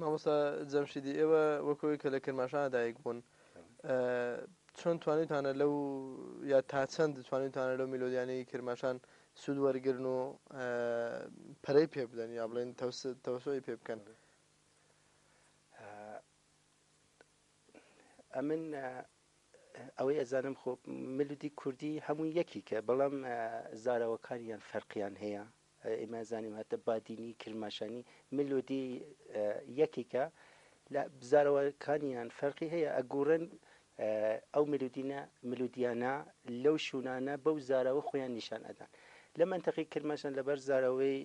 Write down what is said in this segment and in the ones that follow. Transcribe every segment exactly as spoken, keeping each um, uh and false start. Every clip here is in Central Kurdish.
مامۆستا جەمشیدی، ئێوە وەکەوەی کە لە کرماشانە دایک بوون، چۆن توانیتانە لەو یا تا چەند توانیتانە لەو میلۆدیانەی کرماشان سوود وەرگرن و پەرەی پێ بدەن یا بڵێن تەوسعی پێ بکەن؟ ئەمن ئەوەی ئەزانم خۆ ملودی کوردی هەموو یەکیکە، بەڵام زاراوەکانیان فەرقیان هەیە. ئێمە زانیم هەتە بادینی کرماشانی ملودی یەکێکە، لە زاراوەکانیان فەرقی هەیە. ئەگوڕن ئەو ملودینە ملودیانە لەو شوونانە بەو زاراوە خۆیان نیشان ئەدان. لە منطقی کرماشان لەبەر زاراوەی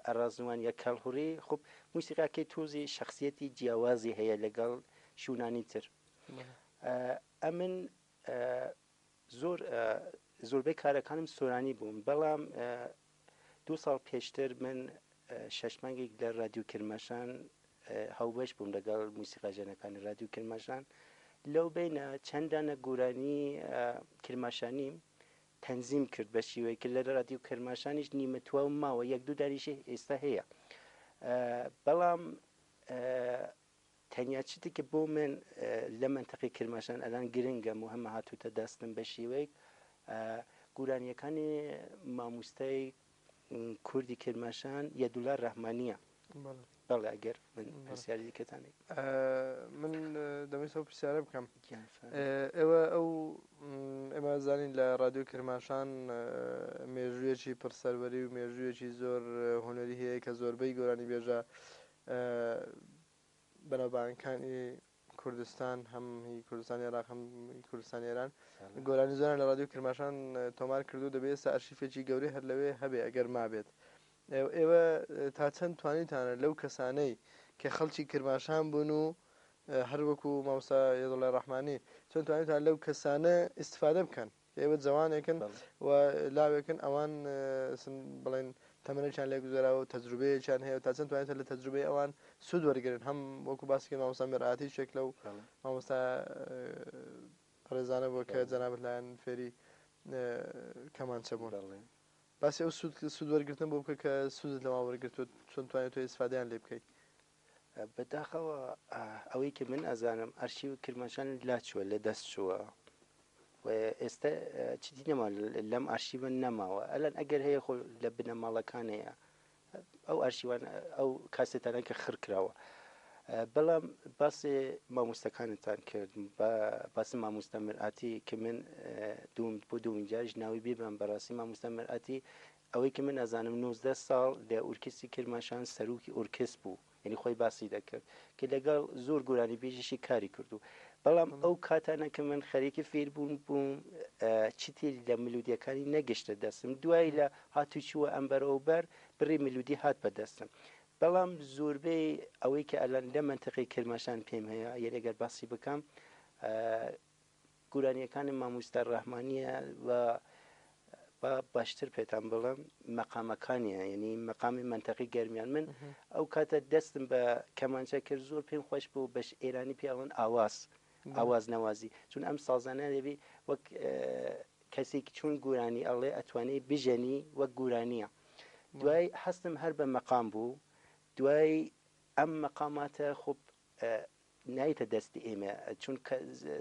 ئەڕازوان یا کەڵهوڕی خب موسیقاکەی تۆزی شخصیەتی جیاوازی هەیە لەگەڵ شوونانی تر. ئەمن زۆر زۆربەی کارەکانم سۆرانی بووم، بەڵام دوو ساڵ پێشتر من شەش مانگێک لە رادیو کرماشان هاوبەش بووم لەگەڵ موسیقاژەنەکانی رادیو کرماشان. لەو بینە چەندانە گۆرانی کرماشانیم تەنزیم کرد بە شێوەیە کە لە رادیو کرماشانیش نیمە تواو ماوە، یەک دوو دانیشی ئێستا هەیە. بەڵام تەنیا چیتێک کە بۆ من لە منطقی کرماشان ئەلان گرنگە مهمە هاتووتە دەستم بە شێوەیەک گۆرانیەکانی مامۆستای کوردی کرماشان یەدوڵا ڕەحمانیە. بەڵێ، ئەگەر من پرسیاری دیکەتانێک. من دەمەوێت ئەو پرسیارە بکەم. ئێوە ئەو ئێمە زانین لە رادیۆ کرماشان مێژوویەکی پڕسەروەری و مێژوویەکی زۆر هونەری هەیە کە زۆربەی گۆرانی بێژە بەناوبانگەکانی کوردستان، هەم هی کوردستانی عێراق هەم کوردستانی ئێران، گۆرانی زۆران لە رادیۆ کرماشان تۆمار کردو. دەبێت ئێستا ئەرشیفێکی گەورەی هەر لەوێ هەبێ ئەگەر مابێت. ئێوە تا چەند توانیتانە لەو کەسانەی کە خەڵکی کرماشان بوون و هەر وەکو مامۆستا یەدوڵای ڕەحمانی چۆن توانیتان لەو کەسانە ئیسفادە بکەن؟ ئێوە جوانێکن و لاوێکن، ئەوان بڵێن تەمەنێکیان لێ گوزەراوە و تەجروبەیەکیان هەیە و تا چەند توانیتان لە تەجروبەی ئەوان سوود وەرگرن؟ هەم وەکو باسی کرد مامۆستا میرئاتی شێک لەو مامۆستا ڕێزانە بووە کە جەنابت لایەن فێری کەمانچە بوون. باسی ئەو سوود سوود وەرگرتن بۆ بکە کە سوودت لەوان وەرگرتووە، چۆن توانیت تۆ ئیسفادەیان لێ بکەیت؟ بەداخەوە ئەوەی کە من ئەزانم ئەرشیو کرماشان لا چووە، لە دەست چووە و ئێستا چیدی نەما لەم ئەرشیوە نەماوە. ئەلان ئەگەر هەیە خۆ لە بنەماڵەکان هەیە ئەو ئەرشیوان ئەو کاسێتانە کە خڕ کراوە. بەڵام باسی مامۆستاکانتان کرد، باسی مامۆستا مرئاتی کە من دوم بۆ دومین جاریش ناوی بێبم، بەڕاستی مامۆستا مرئاتی ئەوەی کە من ئەزانم نۆزدە ساڵ لە ئورکستی کرماشان سەرۆکی ئورکس بوو، یعنی خۆی باسی دەکرد کە لەگەڵ زۆر گۆرانی بێژیشی کاری کردو. بەڵام ئەو کاتانە کە من خەریکی فێربوون بووم چیتر لە ملودیەکانی نەگەشتە دەستم. دوای لە هاتوچووە ئەمبەر ئەوبەر بڕی ملودی هات بە دەستم. بەڵام زۆربەی ئەوەی کە ئەلان لە منطقی کرماشان پێم هەیە، یعنی ئەگەر باسی بکەم گۆرانیەکانی مامۆستا ڕەحمانیە و با باشتر پێتان بڵم مەقامەکانیە، یعنی مەقامی منطقی گەرمیان. من ئەو کاتە دەستم بە کەمانچە کرد، زۆر پێم خۆش بوو بەش ئێرانی پێ ئەڵێن ئاواز، ئاواز نەوازی، چون ئەم سازانە دەبی وەک کەسێک چون گۆرانی ئەڵێ ئەتوانێ بژەنی وەک گۆرانیە. دوای هەستم هەر بە مەقام بوو. دوای ئەم مەقاماتە خۆ نایتە دەستی ئێمە چونکە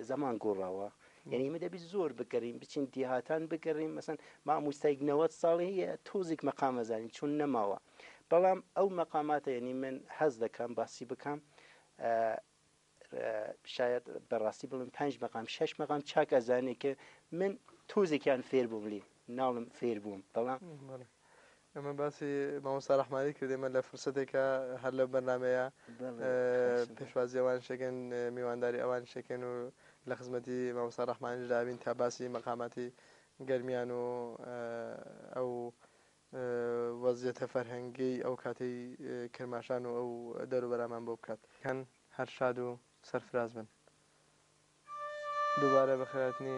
زەمان گۆڕاوە، یعنی ئێمە دەبی زۆر بگەڕین، بچین دیهاتان بگەڕین. مەسەن مامۆستایەک نەوەد ساڵی هەیە تۆزێک مەقام ئەزانین چون نەماوە. بەڵام ئەو مەقاماتە یعنی من حەز دەکەم باسی بکەم، شاید بەڕاستی بڵم پنج مەقام شەش مەقام چاک ئەزانێ کە من تۆزێکیان فێر بووم، لێ ناڵم فێر بووم. بەڵام ئەمە باسی مامۆستا ڕەحمانی کرد، ئێمە لە فرسەتێکە هەر لەو بەرنمەیە پێشوازی ئەوان شەکەن، میوانداری ئەوان شەکەن و لە خزمەتی مامۆستا ڕەحمانیش دابین تا باسی مەقاماتی گەرمیان و ئەو وەزیەتە فەرهەنگی ئەو کاتەی کرماشان و ئەو دەوروبەرامان بۆ بکات. کەن هەر شاد و سەرفراز بن. دووبارە بەخێرهاتنی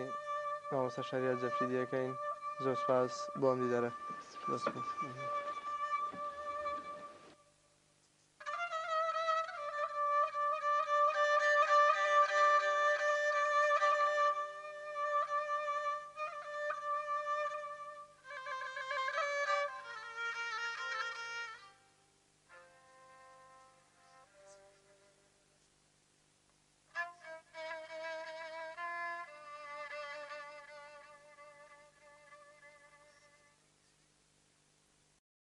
مامۆستا شەریار جەمشیدیەکەین. زۆر سپاس بۆ ئەم دیدارە. زۆر سپاس.